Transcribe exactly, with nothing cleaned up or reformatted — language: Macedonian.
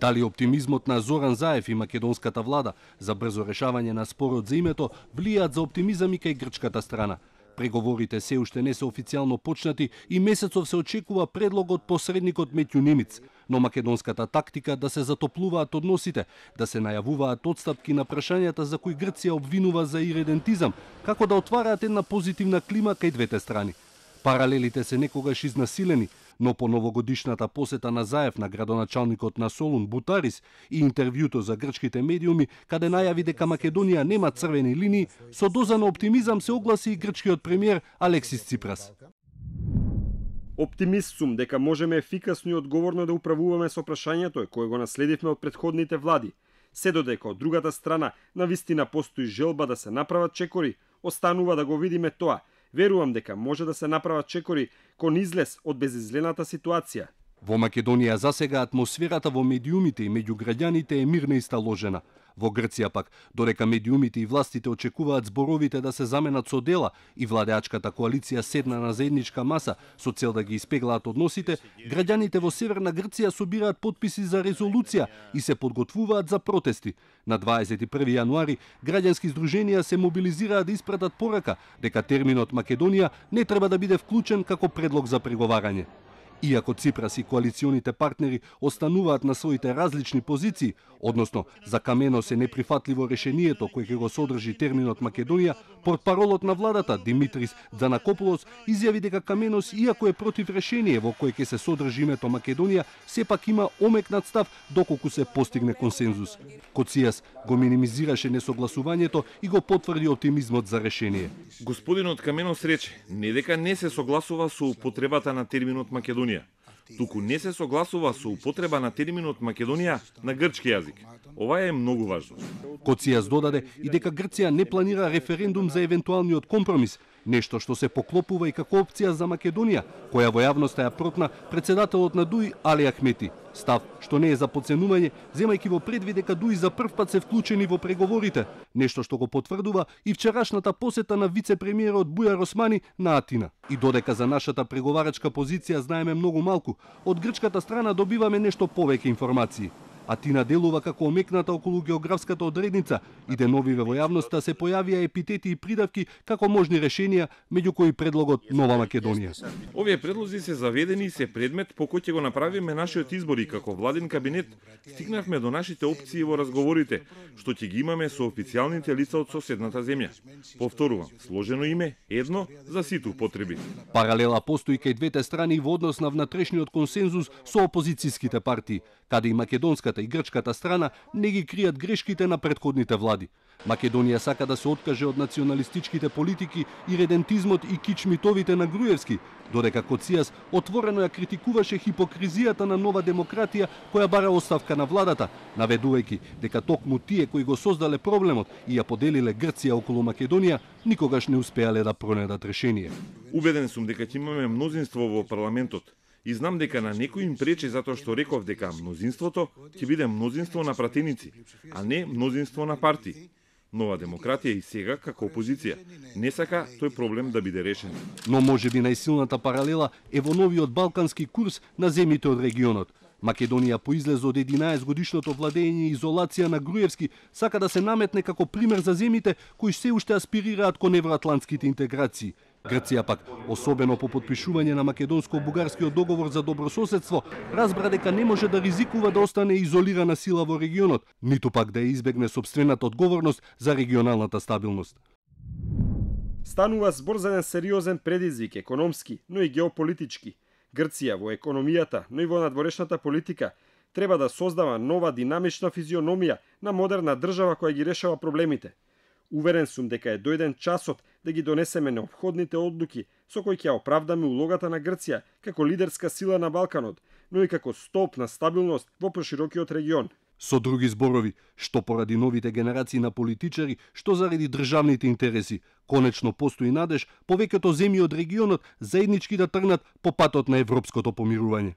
Дали оптимизмот на Зоран Заев и македонската влада за брзо решавање на спорот за името влијаат за оптимизам и кај грчката страна? Преговорите се уште не се официјално почнати и месецов се очекува предлог од посредникот Метју Немиц, но македонската тактика да се затоплуваат односите, да се најавуваат отстапки на прашањата за кои Грција обвинува за иредентизам, како да отвараат една позитивна клима кај двете страни. Паралелите се некогаш изнасилени, но по новогодишната посета на Заев на градоначалникот на Солун Бутарис и интервјуто за грчките медиуми, каде најави дека Македонија нема црвени линии, со доза на оптимизам се огласи и грчкиот премиер Алексис Ципрас. Оптимист сум дека можеме ефикасно и одговорно да управуваме со прашањето кое го наследивме од претходните влади. Се додека од другата страна навистина постои желба да се направат чекори, останува да го видиме тоа. Верувам дека може да се направат чекори кон излез од безизлената ситуација. Во Македонија засега атмосферата во медиумите и меѓу граѓаните е мирна и сталожена. Во Грција пак, додека медиумите и властите очекуваат зборовите да се заменат со дела и владеачката коалиција седна на заедничка маса со цел да ги испеглаат односите, граѓаните во Северна Грција собираат потписи за резолуција и се подготвуваат за протести. На дваесет и први јануари граѓански здруженија се мобилизираат да испратат порака дека терминот Македонија не треба да биде вклучен како предлог за преговарање. Иако Ципрас и коалиционите партнери остануваат на своите различни позиции, односно за Каменос е неприфатливо решението кое ќе го содржи терминот Македонија, портпаролот на владата Димитрис Дзанакополос изјави дека Каменос, иако е против решение во кое ќе се содржи името Македонија, сепак има омекнат став доколку се постигне консензус. Коцијас го минимизираше несогласувањето и го потврди оптимизмот за решение. Господинот Каменос рече не дека не се согласува со употребата на терминот Македонија, туку не се согласува со употреба на терминот Македонија на грчки јазик. Ова е многу важно. Коцијас додаде и дека Грција не планира референдум за евентуалниот компромис, нешто што се поклопува и како опција за Македонија, која во јавноста ја протна председателот на ДУИ Али Ахмети. Став што не е за подценување, земајќи во предвид дека ДУИ за прв пат се вклучени во преговорите, нешто што го потврдува и вчерашната посета на вице-премиерот Бујар Османи на Атина. И додека за нашата преговарачка позиција знаеме многу малку, од грчката страна добиваме нешто повеќе информации. Атина делува како омекната околу географската одредница и деновиве во јавноста се појавија епитети и придавки како можни решенија, меѓу кои предлогот Нова Македонија. Овие предлози се заведени и се предмет по кој ќе го направиме нашиот избор и како владин кабинет стигнавме до нашите опции во разговорите, што ќе ги имаме со официјалните лица од соседната земја. Повторувам, сложено име, едно за сите употреби. Паралела постои кај двете страни во однос на внатрешниот консензус со опозицијските партии, каде и македонската и грчката страна не ги кријат грешките на претходните влади. Македонија сака да се откаже од националистичките политики и редентизмот и кичмитовите на Груевски, додека Коцијас отворено ја критикуваше хипокризијата на Нова демократија која бара оставка на владата, наведувајќи дека токму тие кои го создале проблемот и ја поделиле Грција околу Македонија, никогаш не успеале да пронедат решение. Убеден сум дека ќе имаме мнозинство во парламентот. И знам дека на некој им пречи затоа што реков дека мнозинството ќе биде мнозинство на пратеници, а не мнозинство на партии. Нова демократија и сега како опозиција не сака тој проблем да биде решен. Но можеби најсилната паралела е во новиот балкански курс на земјите од регионот. Македонија по излез од единаесет годишното владење и изолација на Груевски сака да се наметне како пример за земјите кои се уште аспирираат кон евроатлантските интеграции. Грција пак, особено по подпишување на македонско-бугарскиот договор за добрососедство, разбра дека не може да ризикува да остане изолирана сила во регионот, ниту пак да ја избегне собствената одговорност за регионалната стабилност. Станува збор за еден сериозен предизвик, економски, но и геополитички. Грција во економијата, но и во надворешната политика треба да создава нова динамична физиономија на модерна држава која ги решава проблемите. Уверен сум дека е дојден часот да ги донесеме неопходните одлуки со кои ќе оправдаме улогата на Грција како лидерска сила на Балканот, но и како столб на стабилност во проширокиот регион. Со други зборови, што поради новите генерации на политичари, што заради државните интереси, конечно постои надеж повеќето земји од регионот заеднички да тргнат по патот на европското помирување.